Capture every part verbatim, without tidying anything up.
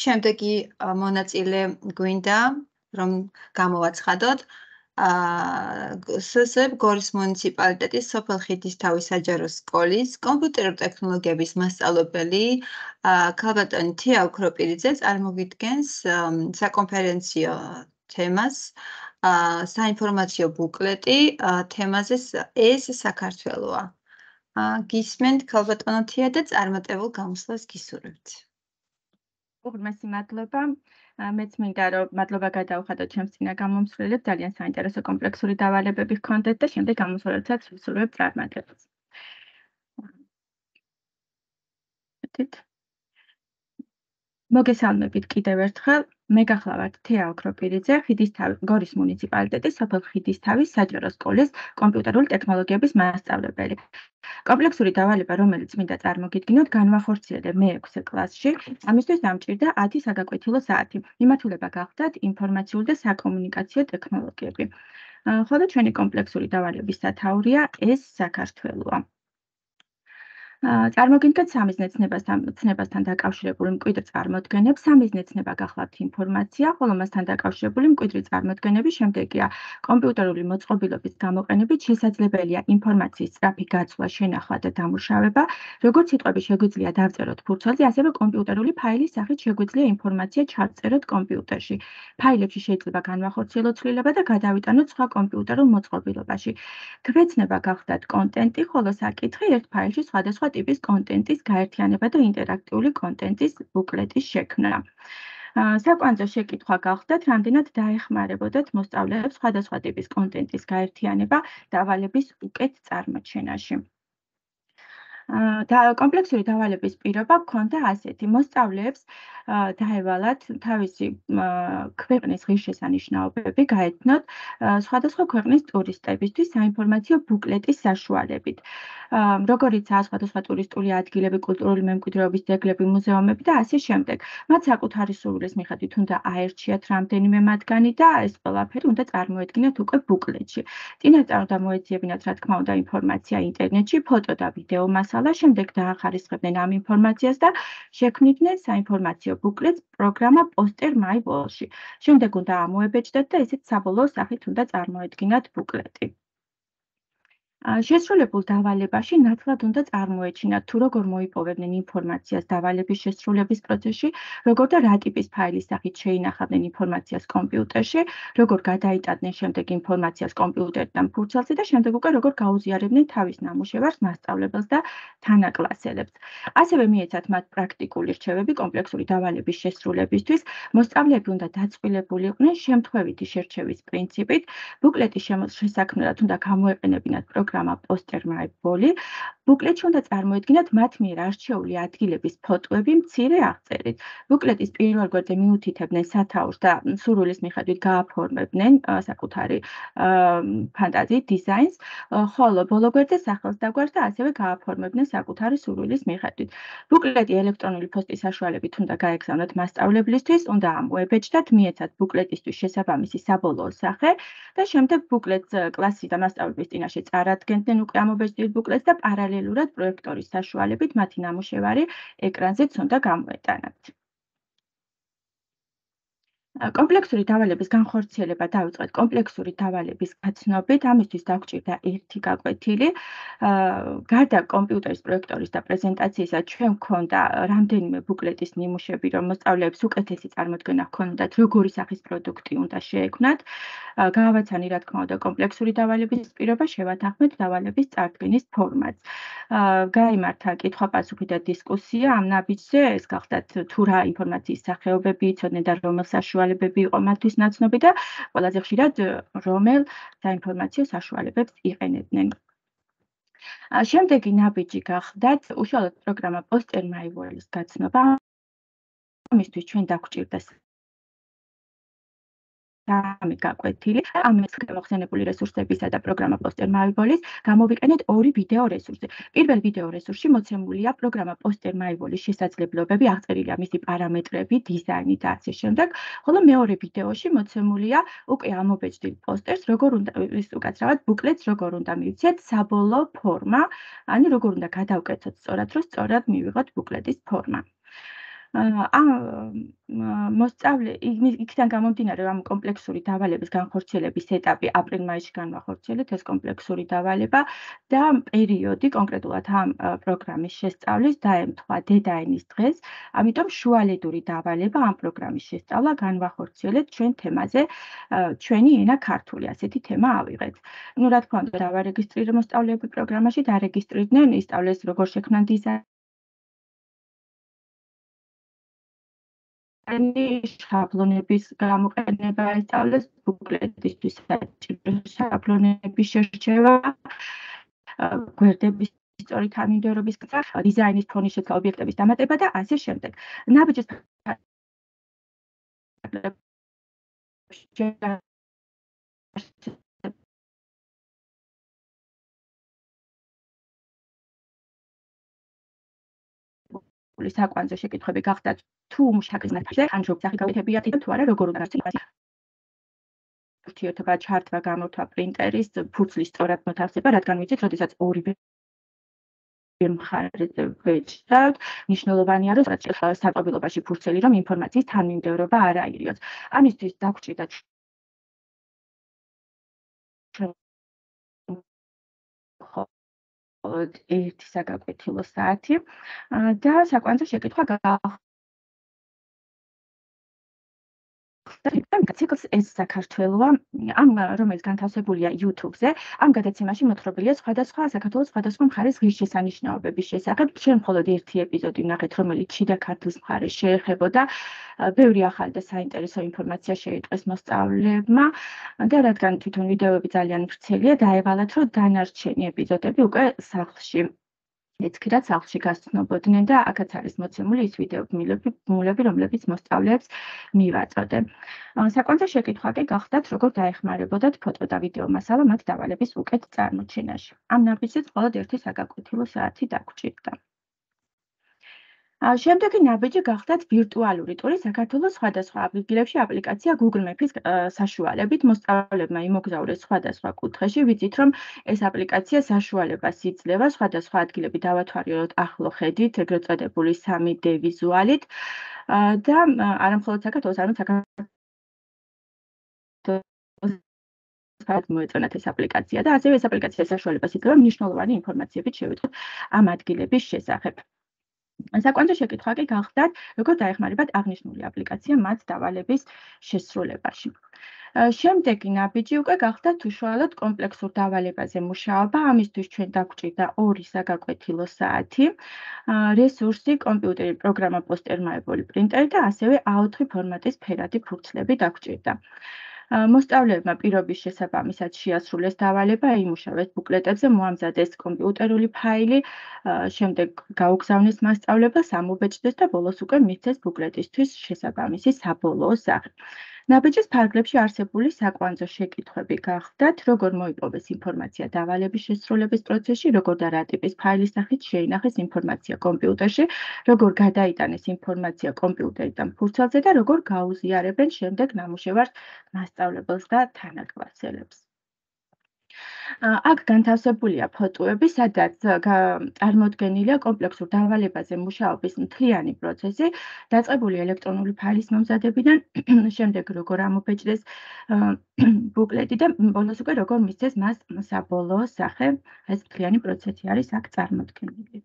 შემდეგი ა, მონაწილე გვინდა, რომ გამოვაცხადოთ. აა სსებ გორის მუნიციპალიტეტის სოფელ ხიდისთავის საჯარო სკოლის კომპიუტერულ ტექნოლოგიების მასწავლებელი აა ქალბატონი თია ოქროპირიძე წარმოგიდგენს ამ, საკონფერენციო თემას, აა საინფორმაციო ბუკლეტი აა, თემაზე ს- ეს საქართველოა. აა, გისმენთ ქალბატონო თია და წარმატებულ გამოსვლას გისურვებთ. უღრმესი მადლობა. ა, მეც მინდა რომ მადლობა გადავხადოთ ჩემს წინა გამომსვლელებს, ძალიან საინტერესო კომპლექსური დავალებები ჰქონდეთ და შემდეგ გამოსვლებსაც ვისურვებ წარმატებას. მეთით. მოგესალმებით კიდევ ერთხელ. მე გახლავართ თეა ოქროპირიძე, ხიდისთავის გორის მუნიციპალიტეტის სოფელ ხიდისთავის საჯარო სკოლის კომპიუტერული ტექნოლოგიების მასწავლებელი. კომპლექსური დავალება, რომელიც მინდა წარმოგიდგინოთ, განვახორციელე მე-ექვსე კლასში. ამისთვის დამჭირდა ათი საგაკვეთილო საათი. მიმართულება გახდათ ინფორმაციული და საკომუნიკაციო ტექნოლოგიები. ა, ხოლო ჩვენი კომპლექსური დავალების სათაურია ეს საქართველოა. ა, წარმოგიდგენთ სამიზნე ცნებასთან ცნებასთან დაკავშირებული მკვიდრ წარმოდგენებს. სამიზნე ცნება გახლავთ ინფორმაცია, ხოლო მასთან დაკავშირებული მკვიდრი წარმოდგენები შემდეგია. კომპიუტერული მოწყობილობის გამოყენებით შესაძლებელია ინფორმაციის სწრაფი გაცვლა, შენახვა და დამუშავება. როგორც სიტყვები შეგვიძლია დავწეროთ ფურცელზე, ასევე კომპიუტერული ფაილის სახით შეგვიძლია ინფორმაცია ჩავწეროთ კომპიუტერში. ფაილებში შეიძლება განვახორციელოთ ცვლილება და გადავიტანოთ სხვა კომპიუტერულ მოწყობილობაში. გვეცნება გახდათ კონტენტი, ხოლო საკითხი ერთ ფაილში სხვადასხვა ტიპის კონტენტის გაერთიანება და ინტერაქტიული კონტენტის ბუკლეტის შექმნა. ა, საკვანძო შეკითხვა გახდათ, რამდენად დაეხმარებოდათ მოსწავლეებს სხვადასხვა ტიპის კონტენტის გაერთიანება დავალების უკეთ წარმოჩენაში. ა, და კომპლექსური დავალების პირობა გქონდა ასეთი. მოსწავლეებს ა, დაევალათ თავისი ა, ქვეყნის ღირსშესანიშნაობები გაეთნოთ ა, სხვადასხვა ქვეყნის ტურისტებისთვის საინფორმაციო ბუკლეტის საშუალებით. ა, როგორიცაა სხვადასხვა ტურისტული ადგილები, კულტურული მემკვიდრეობის ძეგლები, მუზეუმები და ასე შემდეგ. მათ საკუთარი სურვილის მიხედვით უნდა აერჩიათ რამდენიმე მათგანი და ეს ყველაფერი უნდა წარმოედგინათ უკვე ბუკლეტში. წინასწარ უნდა მოეძიებინათ, რა თქმა უნდა, ინფორმაცია ინტერნეტში, ფოტო და ვიდეო მასალა, შემდეგ დაახარისხებდნენ ამ ინფორმაციას და შექმნიდნენ საინფორმაციო ბუკლეტს პროგრამა Poster My Wall-ში. შემდეგ უნდა ამოებეჭდათ და ესეც საბოლოო სახით უნდა წარმოედგინათ ბუკლეტი. ა, შესრულებულ დავალებაში ნათლად უნდა წარმოეჩინათ, თუ როგორ მოიპოვებდნენ ინფორმაციას დავალების შესრულების პროცესში, როგორ და რა ტიპის ფაილის სახით შეინახავდნენ ინფორმაციას კომპიუტერში, როგორ გადაიტანდნენ შემდეგ ინფორმაციას კომპიუტერიდან ფურცელზე და შემდეგ უკვე როგორ გაუზიარებდნენ თავის ნამუშევარს მასწავლებელს და თანაკლასელებს. ასევე მიეცათ მათ პრაქტიკული რჩევები კომპლექსური დავალების შესრულებისთვის. მოსწავლეები უნდა დაწყვილებული იყვნენ შემთხვევითი შერჩევის პრინციპით. ბუკლეტის შემო- შესაქმნელად უნდა გამოეყენებინათ პროგრამა Poster My Wall-ი. ბუკლეტში უნდა წარმოედგინათ მათ მიერ არჩეული ადგილების ფოტოები მცირე აღწერით. ბუკლეტის პირველ გვერდზე მიუთითებდნენ სათაურს და სურვილის მიხედვით გააფორმებდნენ ა, საკუთარი ა, ფანტაზიით დიზაინს, ა, ხოლო ბოლო გვერდზე სახელს დაგვარს და ასევე გააფორმებდნენ საკუთარი სურვილის მიხედვით. ბუკლეტი ელექტრონული ფოსტის საშუალებით უნდა გაეგზავნათ მასწავლებლისთვის, უნდა ამოებეჭდათ, მიეცათ ბუკლეტისთვის შესაბამისი საბოლოო სახე და შემდეგ ბუკლეტს ა, კლასის და მასწავლებლის წინაშე წარადგენდნენ უკვე ამობეჭდილ ბუკლეტს და პარალელურად პროექტორის საშუალებით მათი ნამუშევარი ეკრანზეც უნდა გამოეტანათ. ა, კომპლექსური დავალების განხორციელება დავიწყეთ კომპლექსური დავალების გაცნობით. ამისთვის დაგვჭირდა ერთი გაკვეთილი. ა, გარდა კომპიუტერის პროექტორის და პრეზენტაციისა, ჩვენ გვქონდა რამდენიმე ბუკლეტის ნიმუშები, რომ მოსწავლეებს უკეთესი წარმოდგენა ჰქონდათ, როგორი სახის პროდუქტი უნდა შეექმნათ. ა, გავაცანი, რა თქმა უნდა, კომპლექსური დავალების პირობა, შევათანხმეთ დავალების წარდგენის ფორმატს. ა, გაიმართა კითხვა-პასუხი და დისკუსია ამ ნაბიჯზე. ეს გახდათ თუ რა ინფორმაციის სახეობები იცოდნენ და რომელ საშუალებები იყო მათთვის ნაცნობი და ყველაზე ხშირად ը, რომელ საინფორმაციო საშუალებებს იყენებდნენ. ა, შემდეგი ნაბიჯი გახდათ უშუალოდ პროგრამა Poster My Wall-ის გაცნობა. ამისთვის ჩვენ დაგვჭირდა სამი გაკვეთილი. ამის გამოხსენებული რესურსებისა და პროგრამა Poster My Wall-ის გამოვიყენეთ ორი ვიდეო რესურსი. პირველ ვიდეო რესურსში მოცემულია პროგრამა Poster My Wall-ის შესაძლებლობები, აღწერილია მისი პარამეტრები, დიზაინი და ასე შემდეგ, ხოლო მეორე ვიდეოში მოცემულია უკვე ამობეჭდილ პოსტერს, როგორ უნდა ის უკაცრავად ბუკლეტს როგორ უნდა მივცეთ საბოლოო ფორმა, ანუ როგორ უნდა გადავკეთოთ სწორად, რომ სწორად მივიღოთ ბუკლეტის ფორმა. ამ მოსწავლე იქიდან გამომდინარე, რომ კომპლექსური დავალების განხორციელების ეტაპი აპრილ-მაისში განვახორციელეთ ეს კომპლექსური დავალება და პერიოდი კონკრეტულად ამ პროგრამის შესწავლის დაემთხვა დედაენის დღეს, ამიტომ შუალედური დავალება ამ პროგრამის შესწავლა განვახორციელეთ ჩვენ თემაზე ჩვენი ენა ქართული, ასეთი თემა ავიღეთ. ნუ რა თქმა უნდა, დავარეგისტრირე მოსწავლეები პროგრამაში, დარეგისტრირდნენ, ისწავლეს როგორ შექმნან დიზაინი შაბლონების გამოყენება ისწავლეს, ბუკლეტისთვის საჭირო შაბლონების შერჩევა, გვერდების სწორი თანმიმდევრობის გზა, დიზაინის ფონის შეცვლა, ობიექტების დამატება და ასე შემდეგ. ნაბიჯის საკვანძო შეკითხვები გახდათ თუ მუშაკის ნათლზე, ან ჯობსახი გავეთებიათ თუ არა, როგორ უნდა ურთიერთობა ჩართვა, გამოთვა პრინტერის, ფურცლის სწორად მოთავსება, რადგან ვიცით, როდესაც ორივე მხარეზე ვეჭდავთ, მნიშვნელოვანია, რომ საწყობილობაში ფურცელი, რომ ინფორმაციის თანმიმდევრობა არ აირიოს. ამისთვის დაგვრჩით ერთი საგაკვეთილო საათი და საკვანძო შეკითხვა გახდა ციკლს ეს საქართველოა, ამ რომელიც განთავსებულია YouTube-ზე, ამ გადაცემაში მოთხრობილია სხვადასხვა საქართველოს სხვადასხვა მხარის ღირსშესანიშნაობების შესახებ. ჩვენ მხოლოდ ერთი ეპიზოდი ვნახეთ, რომელიც შიდა ქართლის მხარეს შეეხებოდა. ბევრი ახალი და საინტერესო ინფორმაცია შეიტყვეს მოსწავლეებმა და რადგან თვითონ ვიდეოები ძალიან ვრცელია, დაევალათ, რომ დანარჩენი ეპიზოდები უკვე სახლში ეცქირათ სახლში გასცნობოდნენ და აქაც არის მოცემული ის ვიდეომულები, რომლებიც მოსწავლეებს მივაწოდე. საკვანძო შეკითხვა კი გახდათ, როგორ დაეხმარებოდათ ფოტო და ვიდეო მასალა მათ დავალების უკეთ წარმოჩენაში. ამ ნაბიჯზეც მხოლოდ ერთი საგაკვეთილო საათი დაგვრჩიტდა. შემდეგი ნაბიჯი გახდათ ვირტუალური ტური საქართველოს სხვადასხვა ადგილებში აპლიკაცია Google Maps-ის საშუალებით მოსწავლეებმა იმოგზაურეს სხვადასხვა კუთხეში. ვიცით, რომ ეს აპლიკაცია საშუალებას იძლევა სხვადასხვა ადგილები დავათვალიეროთ ახლო ხედით, ეგრეთ წოდებული სამი დე ვიზუალით და არა მხოლოდ საქართველოს, არამედ საქართველოს მოეწონათ ეს აპლიკაცია და ასევე ეს აპლიკაცია საშუალებას იძლევა მნიშვნელოვანი ინფორმაციებით შევიტყვოთ ამ ადგილების შესახებ. საკვანძო შეკითხვა კი გახდათ, როგორ დაეხმარებათ აღნიშნული აპლიკაცია მათ დავალების შესრულებაში. შემდეგი ნაბიჯი უკვე გახდათ უშუალოდ კომპლექსურ დავალებაზე მუშაობა, ამისთვის ჩვენ დაგვრჩიტდა ორი საგაკვეთილო საათი, რესურსი, კომპიუტერი, პროგრამა, პოსტერმაებული პრინტერი და ასევე ა ოთხი ფორმატის ფერადი ფურცლები დაგვრჩიტდა. მოსწავლეებმა პირობის შესაბამისად შეასრულეს დავალება, იმუშავეს ბუკლეტებზე, მოამზადეს კომპიუტერული ფაილი, შემდეგ გაუგზავნეს მასწავლებლებს, ამობეჭდეს და ბოლოს უკვე მისცეს ბუკლეტისთვის შესაბამისი საბოლოო სახე. ნაბიჯის ფარგლებში არსებული საკვანძო შეკითხვები გახდათ, როგორ მოიპოვეს ინფორმაცია დავალების შესრულების პროცესში, როგორ და რა ტიპის ფაილის სახით შეინახეს ინფორმაცია კომპიუტერში, როგორ გადაიტანეს ინფორმაცია კომპიუტერიდან ფურცელზე და როგორ გაუზიარებენ შემდეგ ნამუშევარს მასწავლებელს და თანაკლასელებს. აქ განთავსებულია ფოტოები, სადაც წარმოდგენილია კომპლექსურ დავალებაზე მუშაობის მთლიანი პროცესი, დაწყებული ელექტრონული ფაილის მომზადებიდან, შემდეგ როგორ ამობეჭდეს ბუკლეტი და ბოლოს უკვე როგორ მისცეს მას საბოლოო სახე. ეს მთლიანი პროცესი არის აქ წარმოდგენილი.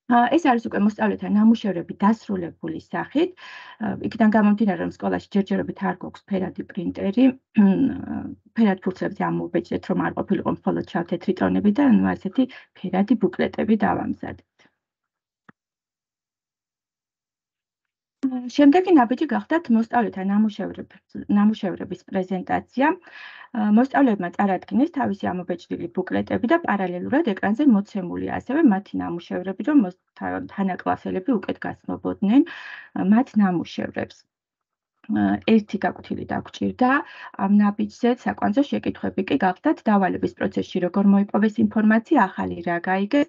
ეს არის უკვე მოსწავლეთა ნამუშევრები დასრულებული სახით. იქიდან გამომდინარე, რომ სკოლაში ჯერჯერობით არ გვაქვს ფერადი პრინტერი, ფერად ფურცლებზე ამოვბეჭდეთ, რომ არ ყოფილიყო მხოლოდ შავ-თეთრი ტონები და ნუ ასეთი ფერადი ბუკლეტები დავამზადეთ. შემდეგი ნაბიჯი გახდათ მოსწავლეთა ნამუშევრების პრეზენტაცია. მოსწავლეებმა წარადგინეს თავისი ამობეჭდილი ბუკლეტები და პარალელურად ეკრანზე მოცემულია ასევე მათი ნამუშევრები, რომ თანაკლასელები უკეთ გაცნობოდნენ მათ ნამუშევრებს. ერთი გაკვეთილი დაგვრჩირდა ამ ნაბიჯზე, საკვანძო შეკითხვები კი გახდათ დავალების პროცესში როგორ მოიპოვეს ინფორმაცია, ახალი რა გაიგეს,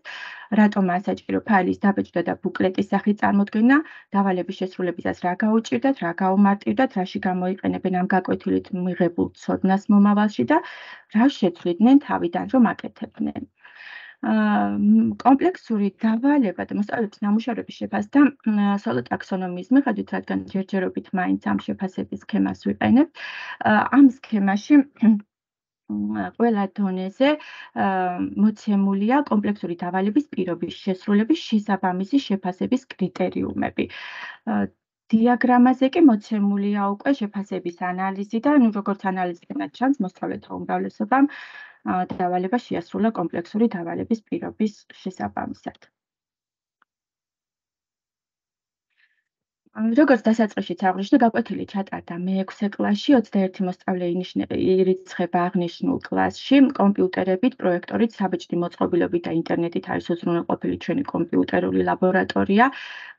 რატომ ასაჭირო ფაილის დაბეჭდა და ბუკლეტის სახით წარმოდგენა, დავალების შესრულებისას რა გაუჭირდათ, რა გაუმარტივდათ, რაში გამოიყენებენ ამ გაკვეთილით მიღებულ ცოდნას მომავალში და რა შეცვლიდნენ თავიდან რომ აკეთებდნენ. კომპლექსური დავალება და მოსწავლეების ნამუშევრების შეფასდა სოლო ტაქსონომიის მიხედვით, რადგან ჯერჯერობით მაინც ამ შეფასების სქემას ვიყენებთ. ამ სქემაში ყველა დონეზე მოცემულია კომპლექსური დავალების პირობის შესრულების შესაბამისი შეფასების კრიტერიუმები. დიაგრამაზე კი მოცემულია უკვე შეფასების ანალიზი და ნუ როგორც ანალიზიდან ჩანს, მოსწავლეთა უმრავლესობამ დავალება შეასრულა კომპლექსური დავალების პირობის შესაბამისად. როგორც დასაწყისშიც აღვნიშნე, გაკვეთილი ჩატარდა მეექვსე კლასში, ოცდაერთი მოსწავლე ირიცხება აღნიშნულ კლასში. კომპიუტერებით, პროექტორით, საბეჭდი მოწყობილობით და ინტერნეტით არის უზრუნველყოფილი ჩვენი კომპიუტერული ლაბორატორია.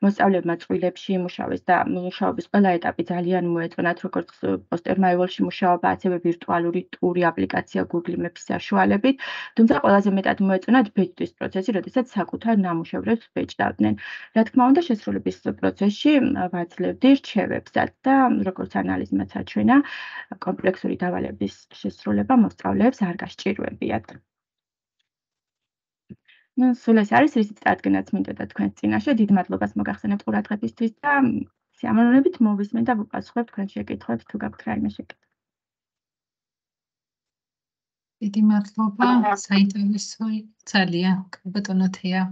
მოსწავლებმა წყვილებში იმუშავეს და მუშაობის ყველა ეტაპი ძალიან მოეწონათ, როგორც პოსტერმაივალში მუშაობა, ასევე ვირტუალური ტური აპლიკაცია Google Maps-ის საშუალებით. თუმცა ყველაზე მეტად მოეწონათ ბეჭდვის პროცესი, როდესაც საკუთარ ნამუშევრებს ბეჭდავდნენ. რა თქმა უნდა, შესრულების პროცესში ვაძლევდი რჩევებსაც და როგორც ანალიზმაც აჩვენა, კომპლექსური დავალების შესრულება მოსწავლეებს არ გასჭირვებიათ. ნუ სულ ეს არის, რისიც წარდგენაც მინდოდა თქვენს წინაშე. დიდ მადლობას მოგახსენებთ ყურადღებისთვის და სიამოვნებით მოვისმენ და ვუპასუხებ თქვენ შეკითხვებს, თუ გაქვთ რაიმე შეკითხვა. დიდი მადლობა, საინტერესო ძალიან, ბატონო თეა.